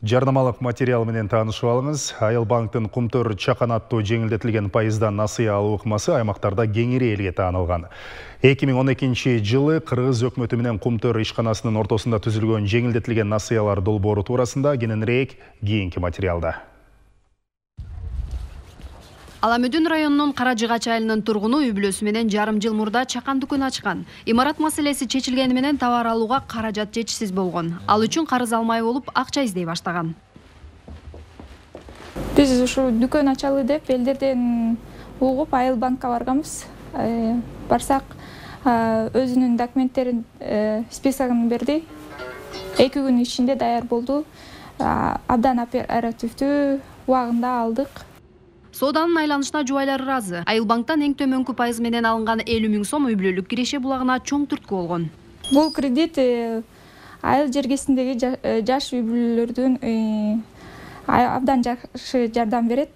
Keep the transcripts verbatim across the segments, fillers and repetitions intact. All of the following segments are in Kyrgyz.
Жарнамалык материал менен таанышып алыңыз. Айыл банктын Кумтөр чакан аттуу жеңилдетилген пайыздан насыя алуу ыкмасы аймактарда кеңири элге таанылган. эки миң он экинчи жылы Кыргыз өкмөтү менен Кумтөр ишканасынын ортосунда түзүлгөн жеңилдетилген насыялар долбоору туурасында кененирээк кийинки материалда. Аламүдүн районунун Каражыгач айылынын тургуну үй бүлөсү менен жарым жыл мурда чакан дүкөн ачкан. Имарат маселеси чечилгени менен товар алууга каражат жетишсиз болгон. Ал үчүн карыз алмай болуп, акча издей баштаган. Биз ушу дүкөн ачалы деп элдерден угуп Айыл банкка барганбыз. Барсак, өзүнүн документтерин, списогун берди. эки күн ичинде даяр болду. Абдан оперативдүү убагында алдык. Сооданын айланышына жубайлар ыраазы. Айыл банктан эң төмөнкү пайыз менен алынган элүү миң сом үй бүлөлүк киреше булагына чоң түрткү болгон. Бул кредит айыл жергесиндеги жаш үй бүлөлөрдүн абдан жакшы жардам берет.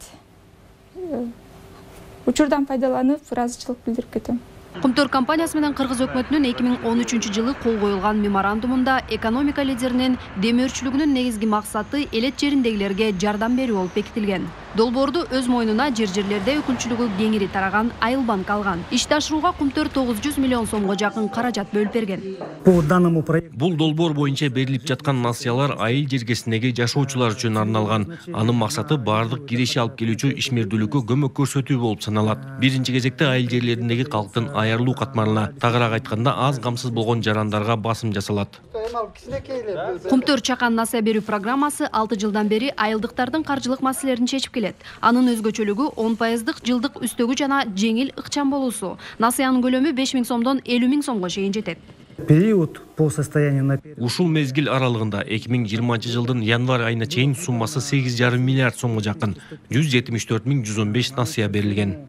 Учурдан пайдаланып, ыраазычылык билдирип кетем. Кумтөр компаниясы менен Кыргыз өкмөтүнүн эки миң он үчүнчү жылы кол коюлган меморандумунда экономика лидеринин демөөрчүлүгүнүн негизги максаты элет жериндегилерге жардам берүү болуп бекитилген. Долбоорду өз мойнуна жер-жерлерде өкүлчүлүгү кеңири тараган Айыл банк алган. Ишти ашырууга Кумтөр тогуз жүз миллион сомго жакын каражат бөлүп берген. Бул долбоор боюнча берилип жаткан насыялар айыл жергесиндеги жашоочулар үчүн арналган. Анын максаты бардык киреше алып келүүчү ишмердүүлүккө көмөк көрсөтүү болуп саналат. Биринчи кезекте айыл жерлериндеги калктын аярлуу катмарына, тагыраак айтканда аз камсыз болгон жарандарга басым жасалат. Кумтөр чакан насыя берүү программасы алты жылдан бери айылдыктардын каржылык маселелерин чечип келет. Анын өзгөчөлүгү он пайыздык жылдык үстөгү жана жеңил ыкчам болуусу. Насыянын көлөмү беш миң сомдон элүү миң сомго чейин жетет. Период по состоянию на Ушул мезгил аралыгында эки миң жыйырманчы жылдын январь айына чейин суммасы сегиз жарым миллиард сомго жакын жүз жетимиш төрт миң жүз он беш насыя берилген.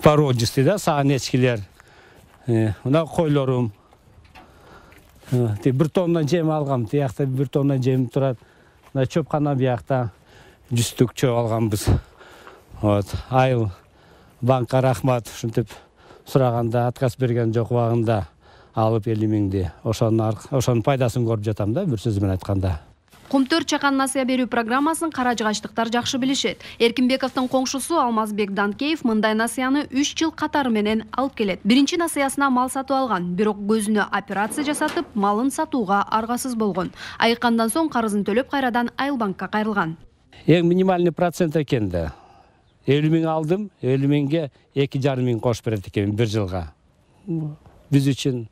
Породистый, да, саан эчкилер. Мына койлорум. Бир тонна жем алгам, тиякта бир тонна жем турат. Мына чөпкана биякта жүздүк чөп алганбыз. Вот, Айыл банкка рахмат, ушинтип сураганда отказ берген жок убагында алып элүү миңди. Ошонун ошонун пайдасын көрүп жатам да, бир сөз менен айтканда. Кумтөр чакан насыя берүү программасын каражыгачтыктар жакшы билишет. Эркинбековдун коңшусу Алмазбек Данкеев мындай насыяны үч жыл катары менен алып келет. Биринчи насыясына мал сатып алган, бирок көзүнө операция жасатып, малын сатууга аргасыз болгон. Айыккандан соң карызын төлөп кайрадан Айыл банкка кайрылган. Эң минимальный процент экен да. элүү миң алдым, элүү миңге эки жарым миң кош берет экен бир жылга. Биз үчүн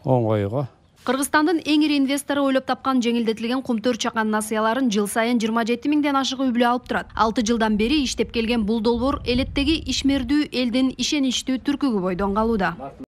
оңой го. Кыргызстандын эң ири инвестору ойлоп тапкан жеңилдетилген Кумтөр чакан насыяларын жыл сайын жыйырма жети миңден ашык үй бүлө алып турат. алты жылдан бери иштеп келген бул долбоор элеттеги ишмердүү элдин ишеничтүү түркүгү бойдон калууда.